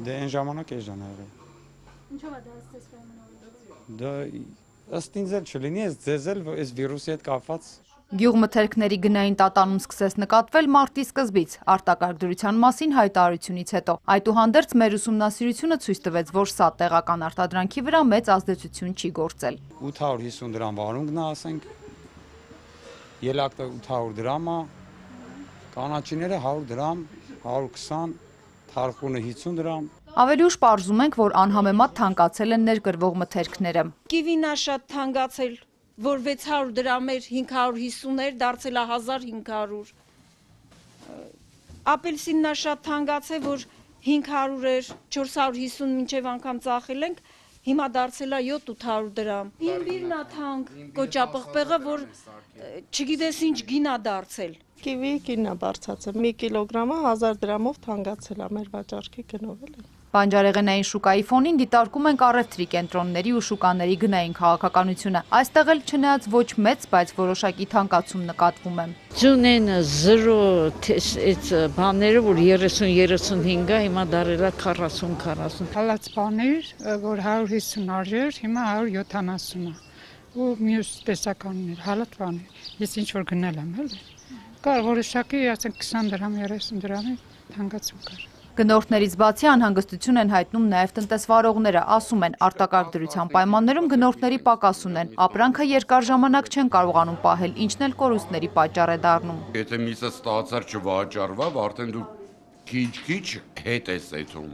Դե այն ժամանակ էժան ա եղել։ Ինչով է դա ստես պայմանավորված։ Դա ըստ ինձ էլ չլինի, ձեզ էլ այս վիրուսի հետ կապված։ Գյուղմթերքների գնային տատանում սկսեց նկատվել մարտի սկզբից, արտակարգ դրության մասին հայտարարությունից հետո։ Այդուհանդերձ մեր ուսումնասիրությունը ցույց տվեց, որ սա տեղական արտադրանքի վրա մեծ ազդեցություն չի գործել։ 850 դրամ վարունգն է, ասենք, ելակտը 800 դրամ է, կանաչիները 100 դրամ, 120, թարխունը 50 դրամ։ Ավելի ուշ պարզում ենք, որ անհամեմատ թանկացել են ներկրվող մթերքները։ Կիվին է շատ թանկացել, որ 600 դրամ էր 550 էր, դարձել է 1500։ Ապելսինն է շատ թանկացել, որ 500 էր 450 մինչև անգամ ծախել ենք, հիմա դարձել է 700 դրամ։ Իմբիրն է թանկ, կոճապղպեղը, որ չգիտես ինչ գին է դարձել։ Կիվի գինն է բարձրացել, 1 կիլոգրամը 1000 դրամով թանկացել է մեր վաճառքի գնով էլի։ Բանջարեղենային շուկայի ֆոնին դիտարկում ենք առևտրի կենտրոնների ու շուկաների գնային քաղաքականությունը։ Այստեղ էլ չնայած ոչ մեծ, բայց որոշակի թանկացում նկատվում է։ Ձունեն 0 այս բաները, որ 30-35 է, հիմա դարել է 40-40։ Հալած բաներ, որ 150 արժեր, հիմա 170 է։ Ու մյուս տեսականներ, հալած բաներ։ Ես ինչ որ գնել եմ, էլի։ Կար որոշակի, ասենք 20 դրամ, 30 դրամի թանկացում կար։ Գնորդներից բացի անհանգստություն են հայտնում նաև տնտեսվարողները, ասում են արտակարգ դրության պայմաններում գնորդների պակաս ունեն, ապրանքը երկար ժամանակ չեն կարողանում պահել, ինչն էլ կորուստների պատճառ է դառնում։ Եթե միսը ստացար չվաճառվա, արդեն դու քիչ-քիչ հետ ես էթում։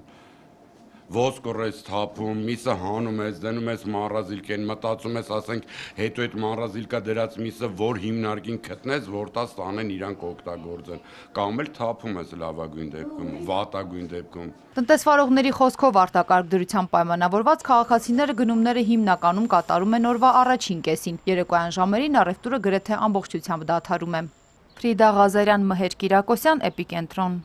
Ոսկոր ես թափում, միսը հանում ես, դնում ես մառազիլկեն, մտածում ես, ասենք, հետո այդ մառազիլկա դրած միսը որ հիմնարկին գտնես, որ տա ստանեն իրանք օգտագործեն, կամ էլ թափում ես լավագույն դեպքում, վատագույն դեպքում։ Տնտեսվարողների խոսքով արտակարգ դրության պայմանավորված քաղաքացիները գնումները հիմնականում կատարում են օրվա առաջին կեսին, երեկոյան ժամերին առևտուրը գրեթե ամբողջությամբ դադարում է։ Ֆրիդա Ղազարյան, Մհեր Կիրակոսյան, Էպիկենտրոն։